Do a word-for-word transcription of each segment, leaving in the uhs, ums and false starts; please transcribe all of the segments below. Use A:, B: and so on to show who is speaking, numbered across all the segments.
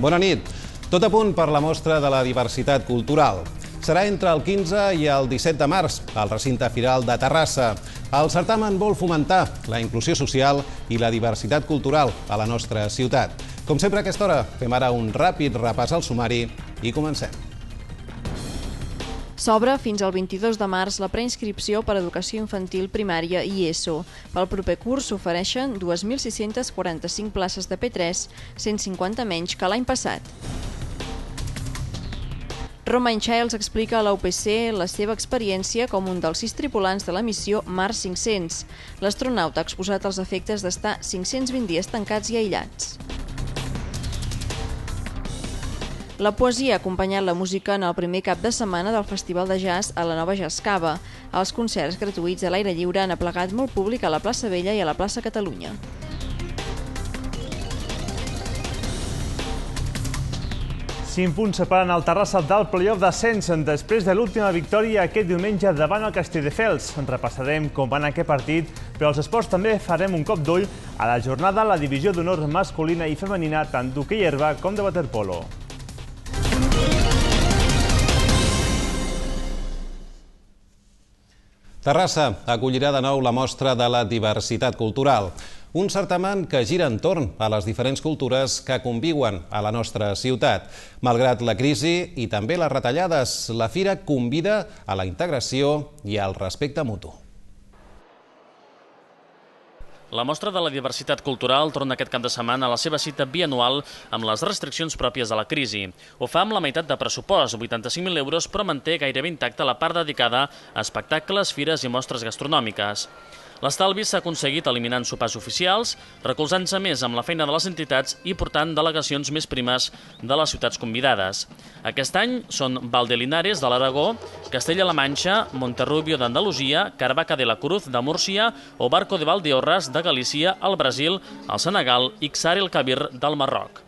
A: Bona nit. Tot a punt per la mostra de la diversitat cultural. Serà entre el quinze i el disset de març, al recinte firal de Terrassa. El certamen vol fomentar la inclusió social i la diversitat cultural a la nostra ciutat. Com sempre a aquesta hora, fem ara un ràpid repàs al sumari i comencem.
B: S'obre fins al vint-i-dos de març la preinscripció per a educació infantil primària i ESO. Pel proper curs s'ofereixen dues mil sis-centes quaranta-cinc places de P tres, cent cinquanta menys que l'any passat. Romain Childs explica a la U P C la seva experiència com un dels sis tripulants de la missió Mars cinc-cents. L'astronauta ha exposat els efectes d'estar cinc-cents vint dies tancats i aïllats. La poesia ha acompanyat la música en el primer cap de setmana del Festival de Jazz a la Nova Jazz Cava. Els concerts gratuïts a l'aire lliure han aplegat molt públic a la plaça Vella i a la plaça Catalunya.
C: Cinc punts separen el Terrassa del play-off d'ascens després de l'última victòria aquest diumenge davant el Castelldefels. Repassarem com va anar aquest partit, però als esports també farem un cop d'ull a la jornada a la divisió d'honor masculina i femenina tant d'hoquei herba com de waterpolo.
A: Terrassa acollirà de nou la mostra de la diversitat cultural, un certamen que gira entorn a les diferents cultures que conviuen a la nostra ciutat. Malgrat la crisi i també les retallades, la fira convida a la integració i al respecte mutu.
D: La mostra de la diversitat cultural torna aquest cap de setmana a la seva cita bianual amb les restriccions pròpies de la crisi. Ho fa amb la meitat de pressupost, vuitanta-cinc mil euros, però manté gairebé intacta la part dedicada a espectacles, fires i mostres gastronòmiques. L'estalvi s'ha aconseguit eliminant sopars oficials, recolzant-se més amb la feina de les entitats i portant delegacions més primes de les ciutats convidades. Aquest any són Valdelinares de l'Aragó, Castella-La Manxa, Monterrubio d'Andalusia, Carvaca de la Cruz de Múrcia o Barco de Valdeorras de Galícia, al Brasil, al Senegal i Ksar el Kabir del Marroc.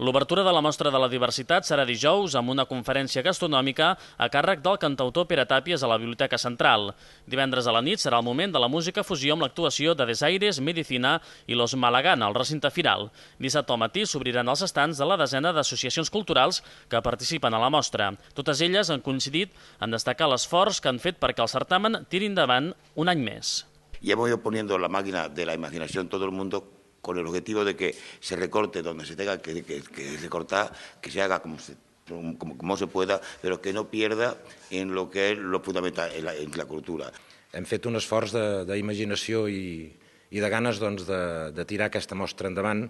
D: L'obertura de la mostra de la diversitat serà dijous amb una conferència gastronòmica a càrrec del cantautor Pere Tàpies a la Biblioteca Central. Divendres a la nit serà el moment de la música fusió amb l'actuació de Desaires, Medicina i Los Malagana al recinte firal. Dissabte al matí s'obriran els estants de la desena d'associacions culturals que participen a la mostra. Totes elles han coincidit en destacar l'esforç que han fet perquè el certamen tiri endavant un any més.
E: Y hemos ido poniendo la máquina de la imaginación todo el mundo con el objetivo de que se recorte donde se tenga que, que, que recortar, que se haga como se, como, como se pueda, pero que no pierda en lo que es lo fundamental, en la, en la cultura.
F: Hem fet un esforç d'imaginació i, i de ganes doncs, de, de tirar aquesta mostra endavant,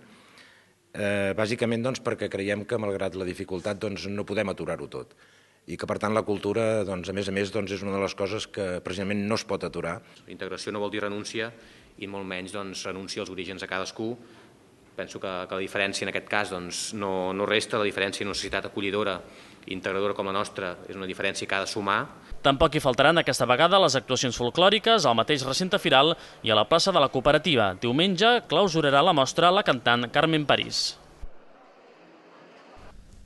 F: eh, bàsicament doncs, perquè creiem que, malgrat la dificultat, doncs, no podem aturar-ho tot. I que, per tant, la cultura, doncs, a més a més, doncs, és una de les coses que precisament no es pot aturar.
G: Integració no vol dir renúncia, i molt menys doncs, renuncia als orígens a cadascú. Penso que, que la diferència en aquest cas doncs, no, no resta, la diferència en una societat acollidora i integradora com la nostra és una diferència que ha de sumar.
D: Tampoc hi faltaran aquesta vegada les actuacions folclòriques al mateix recinte firal i a la plaça de la Cooperativa. Diumenge clausurarà la mostra la cantant Carmen París.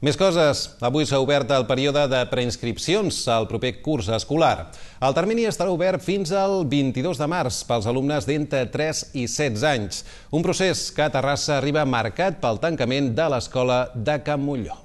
A: Més coses. Avui s'ha obert el període de preinscripcions al proper curs escolar. El termini estarà obert fins al vint-i-dos de març pels alumnes d'entre tres i setze anys. Un procés que a Terrassa arriba marcat pel tancament de l'escola de Can Montllor.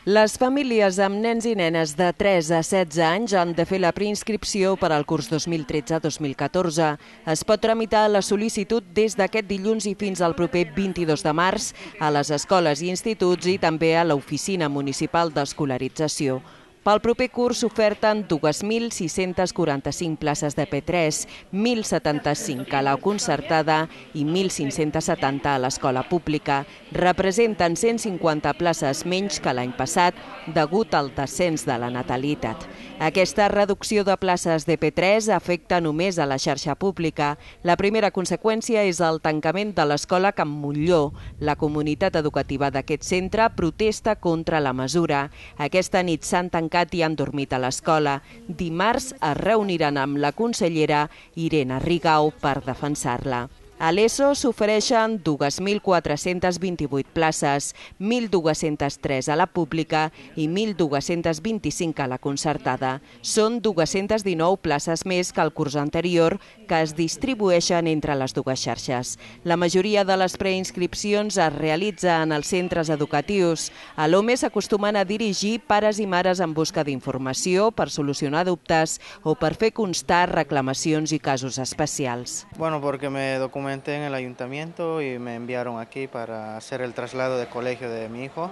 H: Les famílies amb nens i nenes de tres a setze anys han de fer la preinscripció per al curs dos mil tretze dos mil catorze. Es pot tramitar la sol·licitud des d'aquest dilluns i fins al proper vint-i-dos de març a les escoles i instituts i també a l'Oficina Municipal d'Escolarització. Pel proper curs s'oferten dues mil sis-centes quaranta-cinc places de P tres, mil setanta-cinc a la concertada i mil cinc-cents setanta a l'escola pública. Representen cent cinquanta places menys que l'any passat degut al descens de la natalitat. Aquesta reducció de places de P tres afecta només a la xarxa pública. La primera conseqüència és el tancament de l'escola Can Montllor. La comunitat educativa d'aquest centre protesta contra la mesura. Aquesta nit s'han tancat i han dormit a l'escola. Dimarts es reuniran amb la consellera Irene Rigau per defensar-la. A l'ESO s'ofereixen dos mil quatre-cents vint-i-vuit places, mil dos-cents tres a la pública i mil dos-cents vint-i-cinc a la concertada. Són dos-centes dinou places més que el curs anterior que es distribueixen entre les dues xarxes. La majoria de les preinscripcions es realitza en els centres educatius. A l'O M E s'acostumen a dirigir pares i mares en busca d'informació per solucionar dubtes o per fer constar reclamacions i casos especials.
I: Bueno, porque me documenté en el ayuntamiento y me enviaron aquí para hacer el traslado de colegio de mi hijo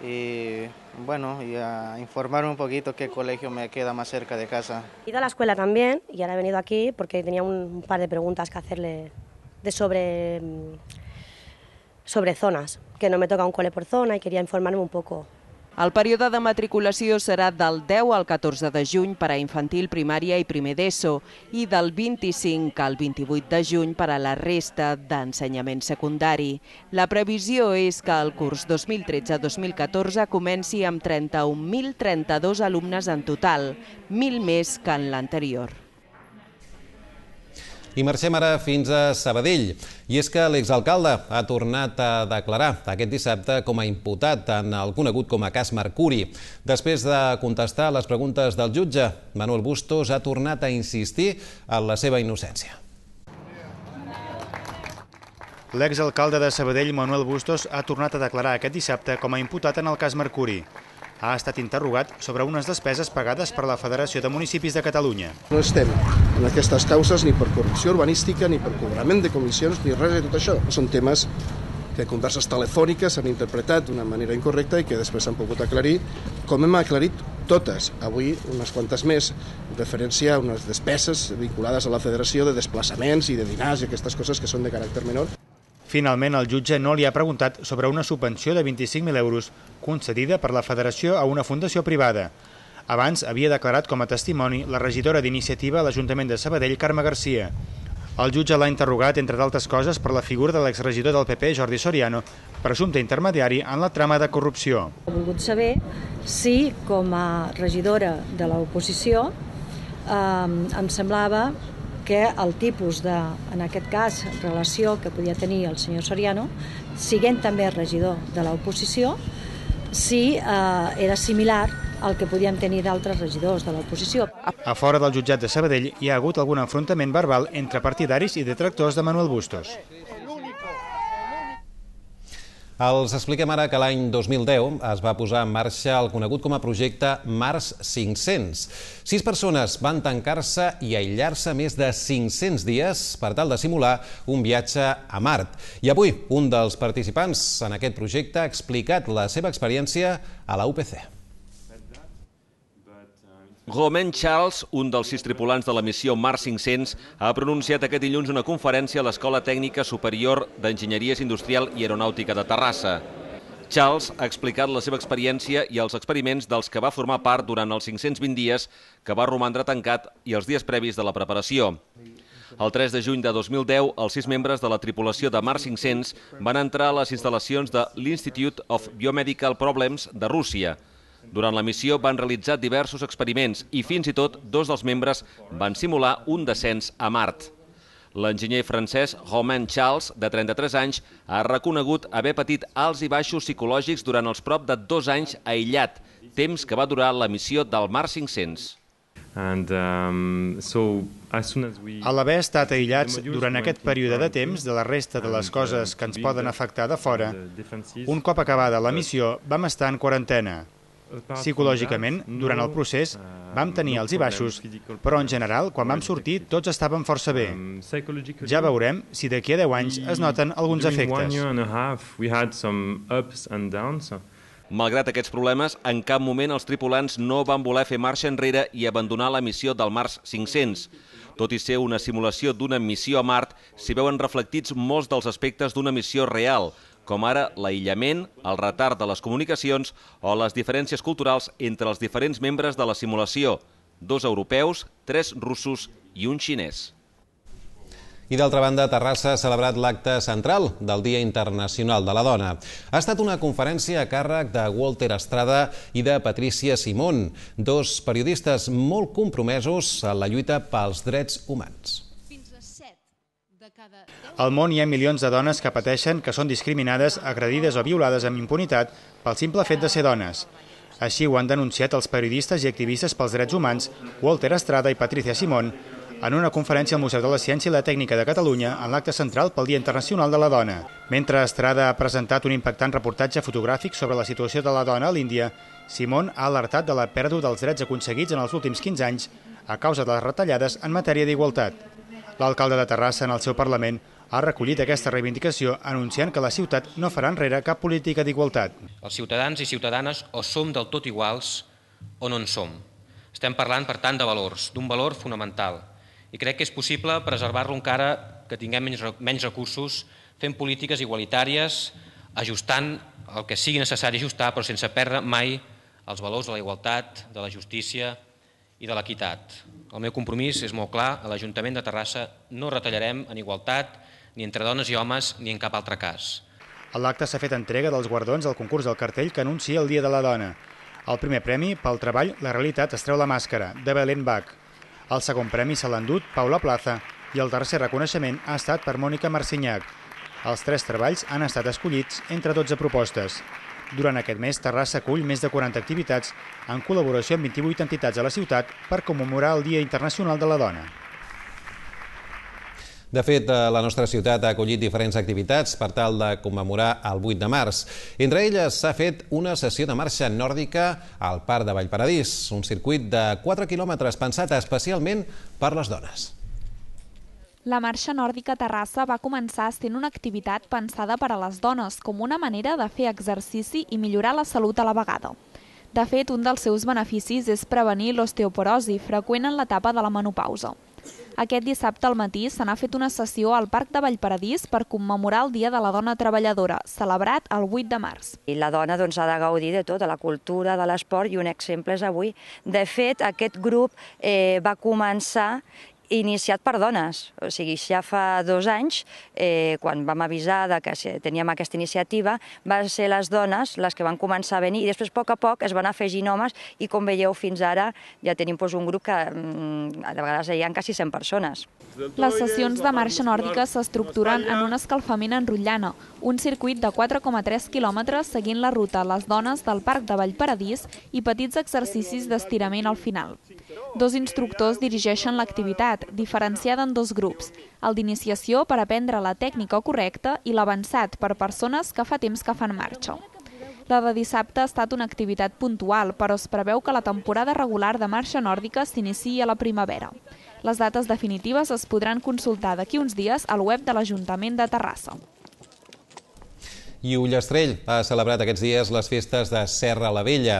I: y bueno, y a informarme un poquito qué colegio me queda más cerca de casa.
J: He ido a la escuela también y ahora he venido aquí porque tenía un par de preguntas que hacerle de sobre, sobre zonas, que no me toca un cole por zona y quería informarme un poco.
H: El període de matriculació serà del deu al catorze de juny per a infantil, primària i primer d'ESO i del vint-i-cinc al vint-i-vuit de juny per a la resta d'ensenyament secundari. La previsió és que el curs dos mil tretze dos mil catorze comenci amb trenta-un mil trenta-dos alumnes en total, mil més que en l'anterior.
A: I marxem ara fins a Sabadell. I és que l'exalcalde ha tornat a declarar aquest dissabte com a imputat en el conegut com a cas Mercuri. Després de contestar les preguntes del jutge, Manuel Bustos ha tornat a insistir en la seva innocència.
K: L'exalcalde de Sabadell, Manuel Bustos, ha tornat a declarar aquest dissabte com a imputat en el cas Mercuri. Ha estat interrogat sobre unes despeses pagades per la Federació de Municipis de Catalunya.
L: No estem en aquestes causes ni per corrupció urbanística, ni per cobrament de comissions, ni res de tot això. Són temes que converses telefòniques s'han interpretat d'una manera incorrecta i que després s'han pogut aclarir, com hem aclarit totes. Avui unes quantes més, referència a unes despeses vinculades a la Federació de desplaçaments i de dinars i aquestes coses que són de caràcter menor.
K: Finalment, el jutge no li ha preguntat sobre una subvenció de vint-i-cinc mil euros concedida per la Federació a una fundació privada. Abans havia declarat com a testimoni la regidora d'Iniciativa a l'Ajuntament de Sabadell, Carme Garcia. El jutge l'ha interrogat, entre d'altres coses, per la figura de l'exregidor del P P, Jordi Soriano, presumpte intermediari en la trama de corrupció.
M: He volgut saber si, com a regidora de l'oposició, eh, em semblava que el tipus de, en aquest cas, relació que podia tenir el senyor Soriano, siguent també regidor de l'oposició, si eh, era similar al que podíem tenir d'altres regidors de l'oposició.
K: A fora del jutjat de Sabadell hi ha hagut algun enfrontament verbal entre partidaris i detractors de Manuel Bustos.
A: Els expliquem ara que l'any dos mil deu es va posar en marxa el conegut com a projecte Mars cinc-cents. Sis persones van tancar-se i aïllar-se més de cinc-cents dies per tal de simular un viatge a Mart. I avui, un dels participants en aquest projecte ha explicat la seva experiència a la U P C.
N: Romain Charles, un dels sis tripulants de la missió Mars cinc-cents, ha pronunciat aquest dilluns una conferència a l'Escola Tècnica Superior d'Enginyeria Industrial i Aeronàutica de Terrassa. Charles ha explicat la seva experiència i els experiments dels que va formar part durant els cinc-cents vint dies que va romandre tancat i els dies previs de la preparació. El tres de juny de dos mil deu, els sis membres de la tripulació de Mars cinc-cents van entrar a les instal·lacions de l'Institute of Biomedical Problems de Rússia. Durant la missió van realitzar diversos experiments i fins i tot dos dels membres van simular un descens a Mart. L'enginyer francès Romain Charles, de trenta-tres anys, ha reconegut haver patit alts i baixos psicològics durant els prop de dos anys aïllat, temps que va durar la missió del Mars cinc-cents.
K: A l'haver estat aïllats durant aquest període de temps de la resta de les coses que ens poden afectar de fora, un cop acabada la missió vam estar en quarantena. Psicològicament, durant el procés, vam tenir alts i baixos, però en general, quan vam sortir, tots estàvem força bé. Ja veurem si d'aquí a deu anys es noten alguns efectes.
N: Malgrat aquests problemes, en cap moment els tripulants no van voler fer marxa enrere i abandonar la missió del Mars cinc-cents. Tot i ser una simulació d'una missió a Mart, s'hi veuen reflectits molts dels aspectes d'una missió real, com ara l'aïllament, el retard de les comunicacions o les diferències culturals entre els diferents membres de la simulació, dos europeus, tres russos i un xinès.
A: I d'altra banda, Terrassa ha celebrat l'acte central del Dia Internacional de la Dona. Ha estat una conferència a càrrec de Walter Estrada i de Patricia Simón, dos periodistes molt compromesos en la lluita pels drets humans.
O: Fins a set de cada
K: Al món hi ha milions de dones que pateixen que són discriminades, agredides o violades amb impunitat pel simple fet de ser dones. Així ho han denunciat els periodistes i activistes pels drets humans Walter Estrada i Patricia Simón en una conferència al Museu de la Ciència i la Tècnica de Catalunya en l'acte central pel Dia Internacional de la Dona. Mentre Estrada ha presentat un impactant reportatge fotogràfic sobre la situació de la dona a l'Índia, Simón ha alertat de la pèrdua dels drets aconseguits en els últims quinze anys a causa de les retallades en matèria d'igualtat. L'alcalde de Terrassa, en el seu Parlament, ha recollit aquesta reivindicació anunciant que la ciutat no farà enrere cap política d'igualtat.
G: Els ciutadans i ciutadanes o som del tot iguals o no en som. Estem parlant, per tant, de valors, d'un valor fonamental. I crec que és possible preservar-lo encara que tinguem menys recursos, fent polítiques igualitàries, ajustant el que sigui necessari ajustar, però sense perdre mai els valors de la igualtat, de la justícia i de l'equitat. El meu compromís és molt clar, a l'Ajuntament de Terrassa no retallarem en igualtat ni entre dones i homes ni en cap altre cas.
K: A l'acte s'ha fet entrega dels guardons al concurs del cartell que anuncia el Dia de la Dona. El primer premi, pel treball La realitat es treu la màscara, de Belén Bach. El segon premi se l'ha endut Paula Plaza i el tercer reconeixement ha estat per Mònica Marcinyac. Els tres treballs han estat escollits entre dotze propostes. Durant aquest mes, Terrassa acull més de quaranta activitats en col·laboració amb vint-i-vuit entitats a la ciutat per commemorar el Dia Internacional de la Dona.
A: De fet, la nostra ciutat ha acollit diferents activitats per tal de commemorar el vuit de març. Entre elles s'ha fet una sessió de marxa nòrdica al Parc de Vallparadís, un circuit de quatre quilòmetres pensat especialment per les dones.
O: La marxa nòrdica a Terrassa va començar sent una activitat pensada per a les dones, com una manera de fer exercici i millorar la salut a la vegada. De fet, un dels seus beneficis és prevenir l'osteoporosi, freqüent en l'etapa de la menopausa. Aquest dissabte al matí se n'ha fet una sessió al Parc de Vallparadís per commemorar el Dia de la Dona Treballadora, celebrat el vuit de març.
P: I la dona doncs, ha de gaudir de tot, de la cultura, de l'esport, i un exemple és avui. De fet, aquest grup eh, va començar iniciat per dones, o sigui, ja fa dos anys, eh, quan vam avisar de que teníem aquesta iniciativa, van ser les dones les que van començar a venir i després, a poc a poc, es van afegint homes i, com veieu, fins ara ja tenim doncs, un grup que mm, a vegades hi ha quasi cent persones.
O: Les sessions de marxa nòrdica s'estructuren en un escalfament en rotllana, un circuit de quatre coma tres quilòmetres seguint la ruta Les Dones del Parc de Vallparadís i petits exercicis d'estirament al final. Dos instructors dirigeixen l'activitat, diferenciada en dos grups, el d'iniciació per aprendre la tècnica correcta i l'avançat per persones que fa temps que fan marxa. La de dissabte ha estat una activitat puntual, però es preveu que la temporada regular de marxa nòrdica s'iniciï a la primavera. Les dates definitives es podran consultar d'aquí uns dies al web de l'Ajuntament de Terrassa.
A: I Ullastrell ha celebrat aquests dies les festes de Serra la Vella.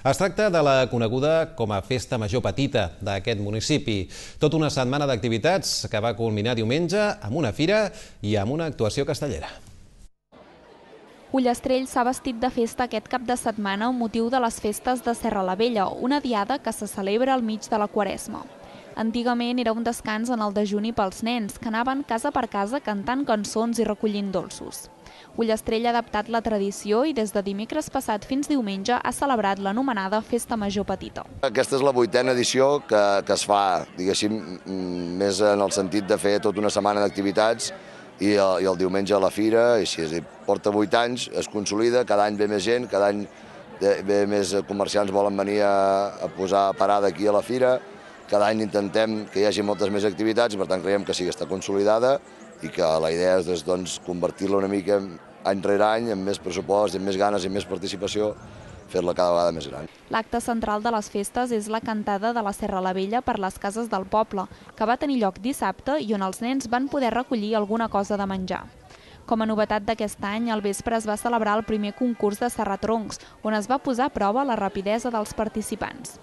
A: Es tracta de la coneguda com a Festa Major Petita d'aquest municipi. Tota una setmana d'activitats que va culminar diumenge amb una fira i amb una actuació castellera.
O: Ullastrell s'ha vestit de festa aquest cap de setmana amb motiu de les festes de Serra la Vella, una diada que se celebra al mig de la Quaresma. Antigament era un descans en el dejuni pels nens, que anaven casa per casa cantant cançons i recollint dolços. Ullastrell ha adaptat la tradició i des de dimecres passat fins diumenge ha celebrat l'anomenada Festa Major Petita.
Q: Aquesta és la vuitena edició que, que es fa, diguéssim, més en el sentit de fer tota una setmana d'activitats i, i el diumenge a la fira, i així, és dir, porta vuit anys, es consolida, cada any ve més gent, cada any ve més comerciants volen venir a, a posar parada aquí a la fira, cada any intentem que hi hagi moltes més activitats i per tant creiem que sí que està consolidada i que la idea és doncs, convertir-la una mica any rere any amb més pressupost, amb més ganes i més participació, fer-la cada vegada més gran.
O: L'acte central de les festes és la cantada de la Serra la Vella per les cases del poble, que va tenir lloc dissabte i on els nens van poder recollir alguna cosa de menjar. Com a novetat d'aquest any, al vespre es va celebrar el primer concurs de serratroncs, on es va posar a prova la rapidesa dels participants.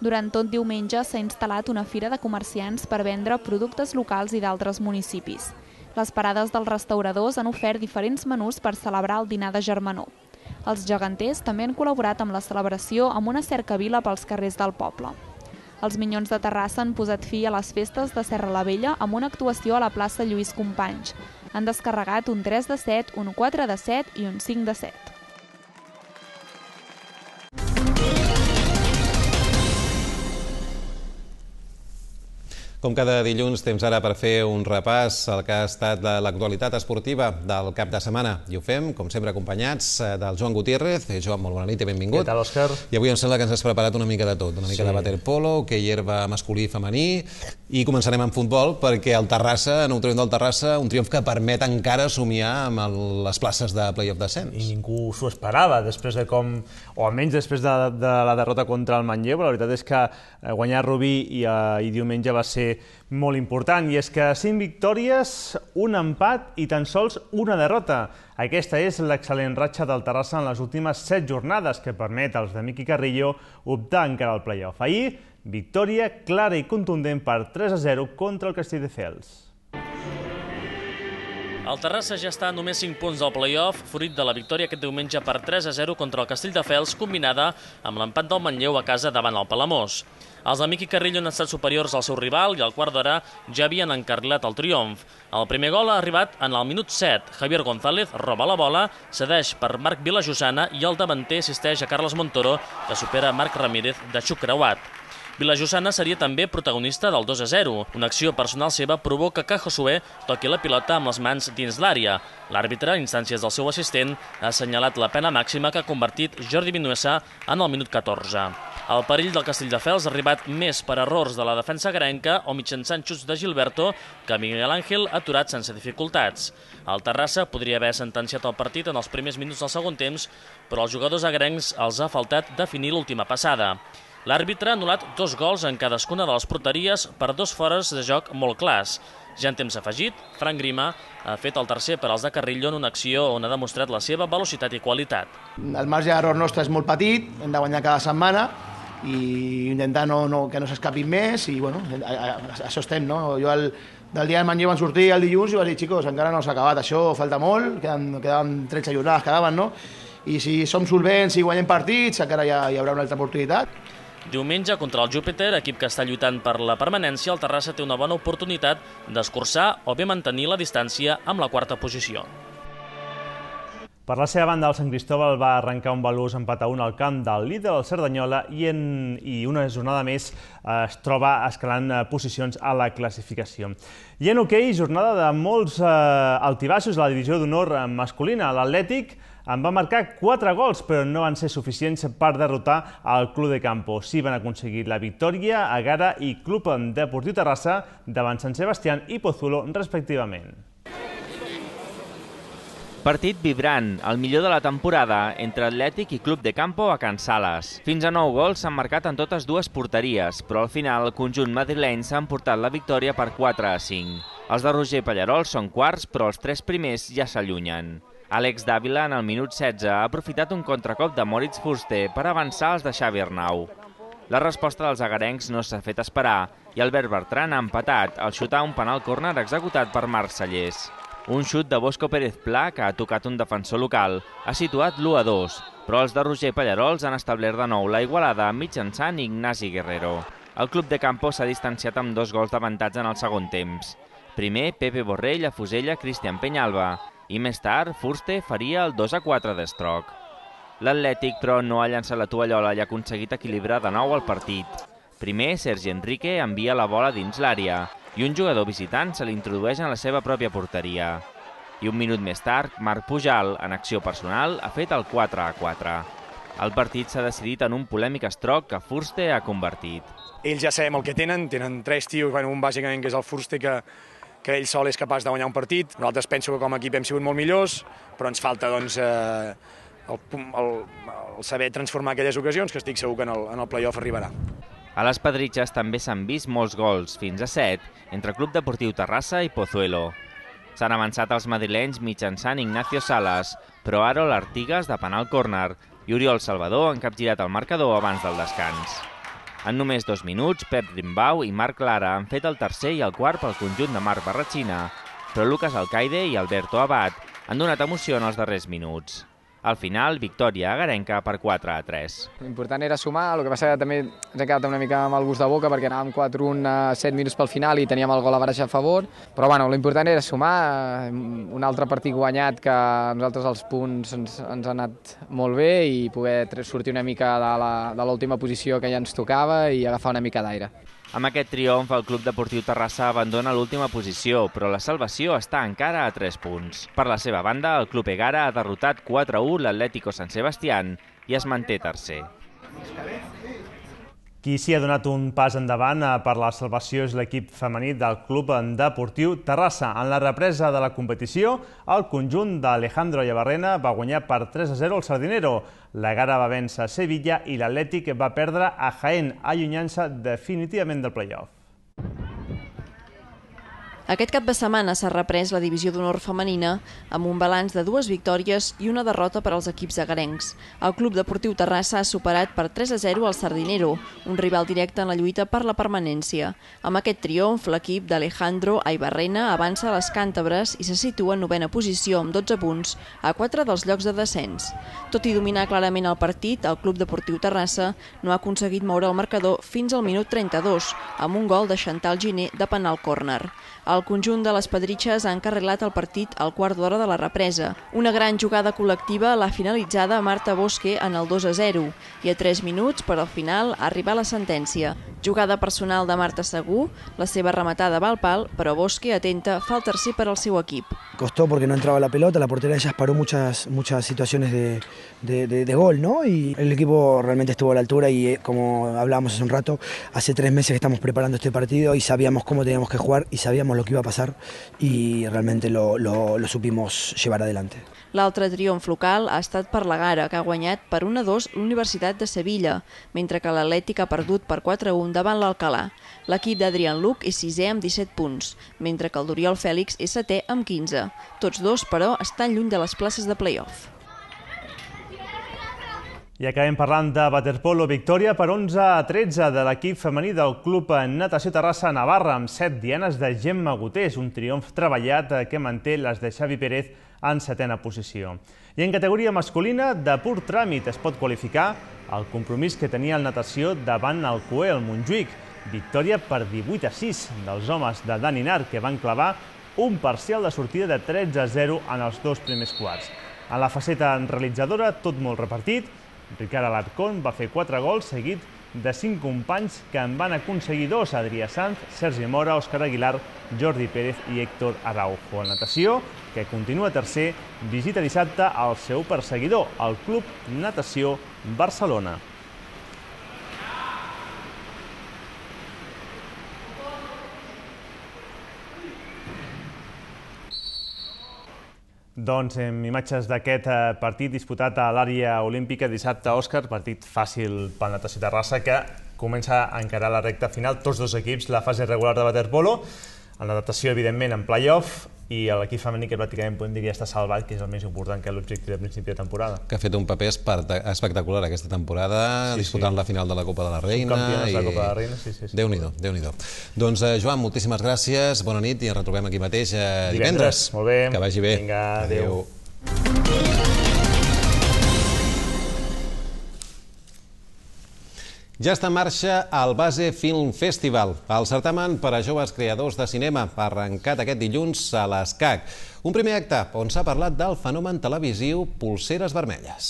O: Durant tot diumenge s'ha instal·lat una fira de comerciants per vendre productes locals i d'altres municipis. Les parades dels restauradors han ofert diferents menús per celebrar el dinar de germanor. Els geganters també han col·laborat amb la celebració amb una cercavila pels carrers del poble. Els Minyons de Terrassa han posat fi a les festes de Serra la Vella amb una actuació a la plaça Lluís Companys. Han descarregat un tres de set, un quatre de set i un cinc de set.
A: Com cada dilluns, temps ara per fer un repàs al que ha estat l'actualitat esportiva del cap de setmana. I ho fem, com sempre, acompanyats del Joan Gutiérrez. Joan, molt bona nit i benvingut.
C: Què tal, Òscar?
A: I avui em sembla que ens has preparat una mica de tot, una mica de waterpolo, hoquei herba masculí i femení, i començarem amb futbol, perquè el Terrassa, nou triomf del Terrassa, un triomf que permet encara somiar amb les places de play-off descens.
C: I ningú s'ho esperava, després de com, o almenys després de, de la derrota contra el Manlleu. La veritat és que guanyar Rubí i, i diumenge va ser molt important, i és que cinc victòries, un empat i tan sols una derrota. Aquesta és l'excel·lent ratxa del Terrassa en les últimes set jornades, que permet als de Miqui Carrillo optar encara al play-off. Ahir, victòria clara i contundent per tres a zero contra el Castelldefels.
D: El Terrassa ja està a només cinc punts del play-off, fruit de la victòria aquest diumenge per tres a zero contra el Castelldefels, combinada amb l'empat del Manlleu a casa davant el Palamós. Els de Miqui Carrillo han estat superiors al seu rival i al quart d'hora ja havien encarrilat el triomf. El primer gol ha arribat en el minut set. Javier González roba la bola, cedeix per Marc Vilajosana i el davanter assisteix a Carles Montoro, que supera Marc Ramírez de xuc creuat. Vilajosana seria també protagonista del dos a zero. Una acció personal seva provoca que Josué toqui la pilota amb les mans dins l'àrea. L'àrbitre, a instàncies del seu assistent, ha assenyalat la pena màxima que ha convertit Jordi Vinuesa en el minut catorze. El perill del Castelldefels ha arribat més per errors de la defensa agrenca o mitjançant xuts de Gilberto que Miguel Ángel ha aturat sense dificultats. El Terrassa podria haver sentenciat el partit en els primers minuts del segon temps, però als jugadors agrencs els ha faltat definir l'última passada. L'àrbitre ha anul·lat dos gols en cadascuna de les porteries per dos fores de joc molt clars. Ja en temps afegit, Frank Grima ha fet el tercer per als de Carrillo en una acció on ha demostrat la seva velocitat i qualitat.
R: El marge d'error nostre és molt petit, hem de guanyar cada setmana i intentar no, no, que no s'escapin més i bueno, a, a, a això estem, no? Jo el, del dia del Manlleu van sortir el dilluns i vaig dir, xicos, encara no s'ha acabat, això falta molt, quedaven, quedaven tretze jornades, quedaven, no? I si som solvents i guanyem partits, encara hi, ha, hi haurà una altra oportunitat.
D: Diumenge, contra el Júpiter, equip que està lluitant per la permanència, el Terrassa té una bona oportunitat d'escurçar o bé mantenir la distància amb la quarta posició.
C: Per la seva banda, el Sant Cristóbal va arrencar un valuós empat a un al camp del líder, el Cerdanyola, i, en, i una jornada més es troba escalant posicions a la classificació. I en hoquei, jornada de molts eh, altibaixos a la divisió d'honor masculina. L'Atlètic en va marcar quatre gols, però no van ser suficients per derrotar el Club de Campo. Sí van aconseguir la victòria Agara i Club Deportiu Terrassa davant Sant Sebastián i Pozuelo, respectivament.
S: Partit vibrant, el millor de la temporada, entre Atlètic i Club de Campo a Can Sales. Fins a nou gols s'han marcat en totes dues porteries, però al final el conjunt madrileny s'ha emportat la victòria per quatre a cinc. Els de Roger Pallarol són quarts, però els tres primers ja s'allunyen. Àlex Dávila, en el minut setze, ha aprofitat un contracop de Moritz Fuster per avançar els de Xavi Arnau. La resposta dels agarencs no s'ha fet esperar i Albert Bertran ha empatat al xutar un penal córner executat per Marc Sallés. Un xut de Bosco Pérez Pla, que ha tocat un defensor local, ha situat l'u a dos, però els de Roger Pallarols han establert de nou la igualada mitjançant Ignasi Guerrero. El Club de Campo s'ha distanciat amb dos gols d'avantatge en el segon temps. Primer, Pepe Borrell afusella Cristian Peñalba, i més tard, Fuster faria el dos a quatre d'Estroc. L'Atlètic, però, no ha llançat la tovallola i ha aconseguit equilibrar de nou el partit. Primer, Sergi Enrique envia la bola dins l'àrea i un jugador visitant se l'introdueix en la seva pròpia porteria. I un minut més tard, Marc Pujal, en acció personal, ha fet el quatre a quatre. El partit s'ha decidit en un polèmic Estroc que Fuster ha convertit.
T: Ells ja sabem el que tenen, tenen tres tios, bueno, un bàsicament que és el Fuster, que que ell sol és capaç de guanyar un partit. Nosaltres penso que com a equip hem sigut molt millors, però ens falta doncs, eh, el, el, el saber transformar aquelles ocasions, que estic segur que en el, en el play-off arribarà.
S: A les Pedritxes també s'han vist molts gols, fins a set, entre Club Deportiu Terrassa i Pozuelo. S'han avançat els madrilenys mitjançant Ignacio Salas, però Harold Artigas de penal córner i Oriol Salvador han capgirat el marcador abans del descans. En només dos minuts, Pep Rimbau i Marc Lara han fet el tercer i el quart pel conjunt de Marc Barratxina, però Lucas Alcaide i Alberto Abad han donat emoció en els darrers minuts. Al final, victòria agarenca per quatre a tres.
U: L'important era sumar, el que passa que també ens hem quedat una mica amb el gust de boca perquè anàvem quatre a un a set minuts pel final i teníem el gol a baraja a favor, però bueno, l'important era sumar, un altre partit guanyat que a nosaltres els punts ens, ens han anat molt bé i poder sortir una mica de l'última posició que ja ens tocava i agafar una mica d'aire.
S: Amb aquest triomf, el Club Deportiu Terrassa abandona l'última posició, però la salvació està encara a tres punts. Per la seva banda, el Club Egara ha derrotat quatre a u l'Atlético San Sebastián i es manté tercer.
C: Qui s'hi ha donat un pas endavant per la salvació és l'equip femení del Club Deportiu Terrassa. En la represa de la competició, el conjunt d'Alejandro Llevarrena va guanyar per tres a zero al Sardinero. L'Egara va vèncer Sevilla i l'Atlètic va perdre a Jaén, allunyant-se definitivament del play-off.
B: Aquest cap de setmana s'ha reprès la divisió d'honor femenina amb un balanç de dues victòries i una derrota per als equips agarencs. El Club Deportiu Terrassa ha superat per tres a zero al Sardinero, un rival directe en la lluita per la permanència. Amb aquest triomf, l'equip d'Alejandro Aybarrena avança a les càntabres i se situa en novena posició amb dotze punts a quatre dels llocs de descens. Tot i dominar clarament el partit, el Club Deportiu Terrassa no ha aconseguit moure el marcador fins al minut trenta-dos, amb un gol de Chantal Giner de penal córner. El conjunt de les Pedritxes ha encarrilat el partit al quart d'hora de la represa. Una gran jugada col·lectiva l'ha finalitzada Marta Bosque en el dos a zero i a tres minuts, per al final, arriba la sentència. Jugada personal de Marta Segú, la seva rematada va al pal, però Bosque, atenta, fa el tercer per al seu equip.
V: Costó porque no entraba la pelota, la portera ellas paró muchas, muchas situaciones de, de, de, de gol, ¿no? Y el equipo realmente estuvo a la altura y, como hablábamos hace un rato, hace tres meses que estamos preparando este partido y sabíamos cómo teníamos que jugar y sabíamos lo que iba a pasar y realmente lo, lo, lo supimos llevar adelante.
B: L'altre triomf local ha estat per l'Egara, que ha guanyat per un a dos l'Universitat de Sevilla, mentre que l'Atlètic ha perdut per quatre a un davant l'Alcalà. L'equip d'Adrián Luc és sisè amb disset punts, mentre que el d'Oriol Fèlix és setè amb quinze. Tots dos, però, estan lluny de les places de play-off.
C: I acabem parlant de waterpolo, victòria per onze a tretze de l'equip femení del Club Natació Terrassa Navarra, amb set dianes de Gemma Gutés, un triomf treballat que manté les de Xavi Pérez en setena posició. I en categoria masculina, de pur tràmit es pot qualificar el compromís que tenia el Natació davant el Coe, el Montjuïc. Victòria per divuit a sis dels homes de Dani Nar, que van clavar un parcial de sortida de tretze a zero en els dos primers quarts. En la faceta realitzadora, tot molt repartit. Ricard Alarcón va fer quatre gols seguit de cinc companys que en van aconseguir dos: Adrià Sanz, Sergi Mora, Òscar Aguilar, Jordi Pérez i Héctor Araujo. El Natació, que continua tercer, visita dissabte el seu perseguidor, el Club Natació Barcelona. Doncs amb imatges d'aquest partit disputat a l'àrea olímpica dissabte, Òscar, partit fàcil pel Natació Terrassa, que comença a encarar la recta final, tots dos equips, la fase regular de waterpolo, el Natació, evidentment, en play-off, i l'equip femení, que pràcticament podem dir que ja està salvat, que és el més important que l'objectiu de principi de temporada.
A: Que ha fet un paper espectacular aquesta temporada, disputant la final de la Copa de la Reina.
C: Campiones de la Copa de la Reina, sí, sí.
A: Déu-n'hi-do, Déu-n'hi-do. Doncs, Joan, moltíssimes gràcies, bona nit i ens retrobem aquí mateix divendres.
C: Molt bé.
A: Que vagi bé.
C: Vinga, adéu.
A: Ja està en marxa el Base Film Festival, el certamen per a joves creadors de cinema, arrencat aquest dilluns a l'ESCAC. Un primer acte on s'ha parlat del fenomen televisiu Polseres Vermelles.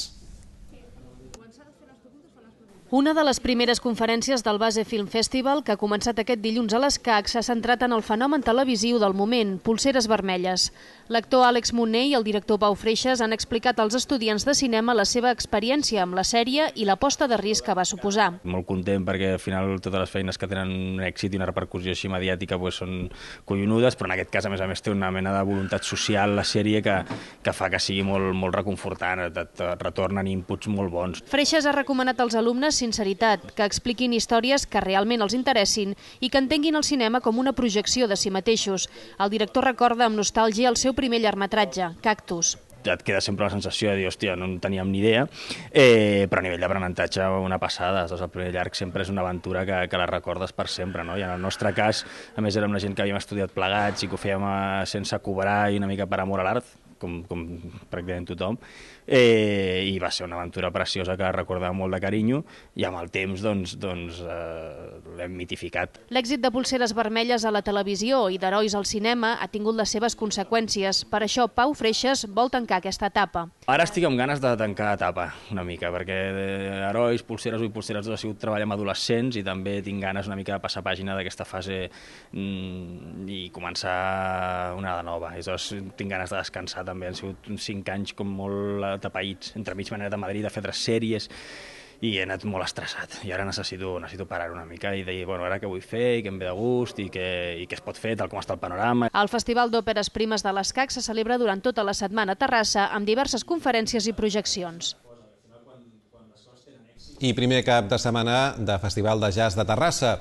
W: Una de les primeres conferències del Base Film Festival, que ha començat aquest dilluns a l'ESCAC, s'ha centrat en el fenomen televisiu del moment, Polseres Vermelles. L'actor Àlex Monner i el director Pau Freixas han explicat als estudiants de cinema la seva experiència amb la sèrie i l'aposta de risc que va suposar.
X: Molt content perquè al final totes les feines que tenen un èxit i una repercussió així mediàtica són collonudes, però en aquest cas a més a més té una mena de voluntat social la sèrie que fa que sigui molt reconfortant, et retornen inputs molt bons.
W: Freixas ha recomanat als alumnes sinceritat, que expliquin històries que realment els interessin i que entenguin el cinema com una projecció de si mateixos. El director recorda amb nostàlgia el seu primer llargmetratge, Cactus.
X: Et queda sempre la sensació de dir, hòstia, no en teníem ni idea, eh, però a nivell d'aprenentatge una passada. El primer llarg sempre és una aventura que, que la recordes per sempre, no? I en el nostre cas, a més, érem una gent que havíem estudiat plegats i que ho fèiem sense cobrar i una mica per amor a l'art, com, com pràcticament tothom, eh, i va ser una aventura preciosa que recordava molt de carinyo, i amb el temps doncs, doncs, eh, l'hem mitificat.
W: L'èxit de Polseres Vermelles a la televisió i d'Herois al cinema ha tingut les seves conseqüències. Per això Pau Freixas vol tancar aquesta etapa.
X: Ara estic amb ganes de tancar etapa una mica, perquè Herois, Polseres u i Polseres dos ha sigut treballar amb adolescents i també tinc ganes una mica de passar pàgina d'aquesta fase mm, i començar una de nova. Llavors tinc ganes de descansar també. Han sigut uns cinc anys com molt atapeïts. Entremig m'he anat a Madrid a fer altres sèries i he anat molt estressat. I ara necessito, necessito parar una mica i dir, bueno, ara què vull fer i què em ve de gust i què, i què es pot fer, tal com està el panorama.
W: El Festival d'Òperes Primes de l'Escac se celebra durant tota la setmana a Terrassa amb diverses conferències i projeccions.
A: I primer cap de setmana de Festival de Jazz de Terrassa.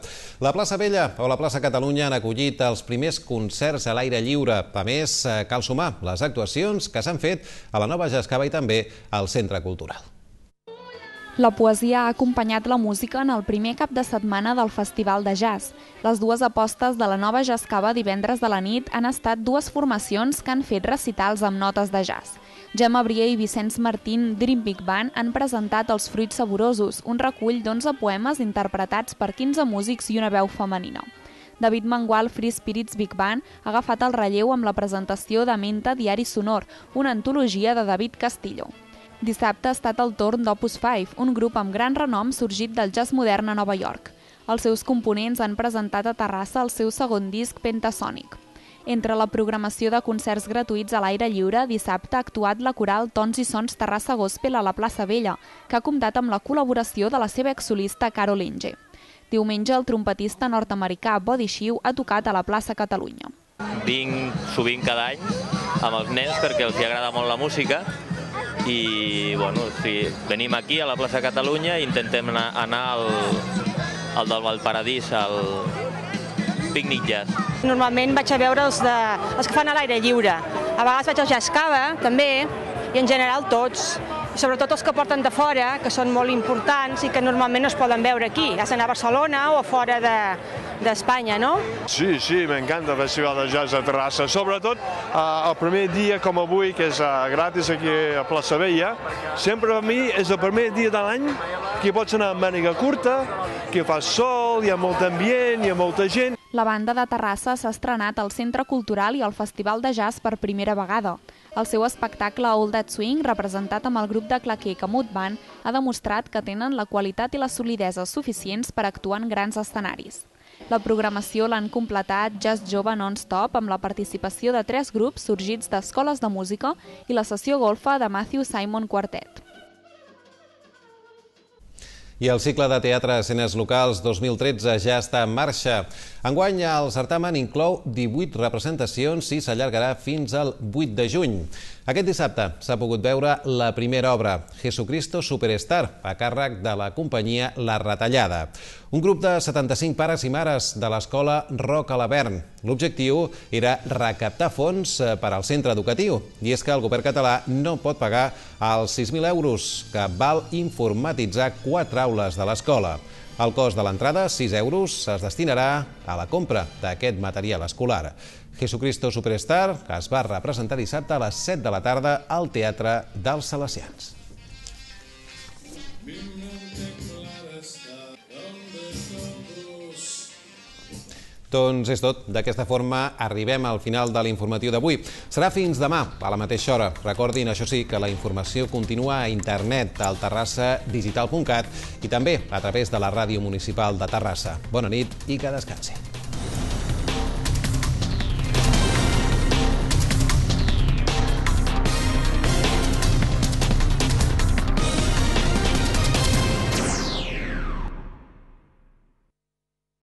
A: La plaça Vella o la plaça Catalunya han acollit els primers concerts a l'aire lliure. A més, cal sumar les actuacions que s'han fet a la Nova Jazz Cava i també al Centre Cultural.
O: La poesia ha acompanyat la música en el primer cap de setmana del Festival de Jazz. Les dues apostes de la Nova Jazz Cava divendres de la nit han estat dues formacions que han fet recitals amb notes de jazz. Gemma Brier i Vicenç Martín, Dream Big Band, han presentat Els fruits saborosos, un recull d'onze poemes interpretats per quinze músics i una veu femenina. David Mangual, Free Spirits Big Band, ha agafat el relleu amb la presentació de Menta Diari Sonor, una antologia de David Castillo. Dissabte ha estat el torn d'Opus cinc, un grup amb gran renom sorgit del jazz modern a Nova York. Els seus components han presentat a Terrassa el seu segon disc Pentasonic. Entre la programació de concerts gratuïts a l'aire lliure, dissabte ha actuat la coral Tons i Sons Terrassa Gospel a la plaça Vella, que ha comptat amb la col·laboració de la seva exsolista Carol Inge. Diumenge, el trompetista nord-americà Body Shiu ha tocat a la plaça Catalunya.
E: Vinc sovint cada any amb els nens perquè els agrada molt la música i bueno, sí, venim aquí a la plaça Catalunya i intentem anar, anar al, al del Valparadís, al Picnic Jazz.
F: Normalment vaig a veure els, de, els que fan a l'aire lliure. A vegades vaig al Jazz Cava, també, i en general tots. Sobretot els que porten de fora, que són molt importants i que normalment no es poden veure aquí. Has d'anar a Barcelona o a fora d'Espanya, de, no?
I: Sí, sí, m'encanta el Festival de Jazz de Terrassa. Sobretot el primer dia com avui, que és gratis aquí a Plaça Vella, sempre a mi és el primer dia de l'any que pots anar amb màniga curta, que fa sol, hi ha molt ambient, hi ha molta gent.
O: La banda de Terrassa s'ha estrenat al Centre Cultural i al Festival de Jazz per primera vegada. El seu espectacle All That Swing, representat amb el grup de claquer Camut Band, ha demostrat que tenen la qualitat i la solidesa suficients per actuar en grans escenaris. La programació l'han completat Jazz Jove Non-Stop amb la participació de tres grups sorgits d'escoles de música i la sessió golfa de Matthew Simon Quartet.
A: I el cicle de teatre Escenes Locals dos mil tretze ja està en marxa. Enguany el certamen inclou divuit representacions i s'allargarà fins al vuit de juny. Aquest dissabte s'ha pogut veure la primera obra, Jesucristo Superstar, a càrrec de la companyia La Retallada. Un grup de setanta-cinc pares i mares de l'escola Roc a l'Avern. L'objectiu era recaptar fons per al centre educatiu. I és que el govern català no pot pagar els sis mil euros que val informatitzar quatre aules de l'escola. El cost de l'entrada, sis euros, es destinarà a la compra d'aquest material escolar. Jesucristo Superstar es va representar dissabte a les set de la tarda al Teatre dels Salesians. Doncs és tot. D'aquesta forma arribem al final de l'informatiu d'avui. Serà fins demà, a la mateixa hora. Recordin, això sí, que la informació continua a internet al terrassa digital punt cat i també a través de la ràdio municipal de Terrassa. Bona nit i que descansi.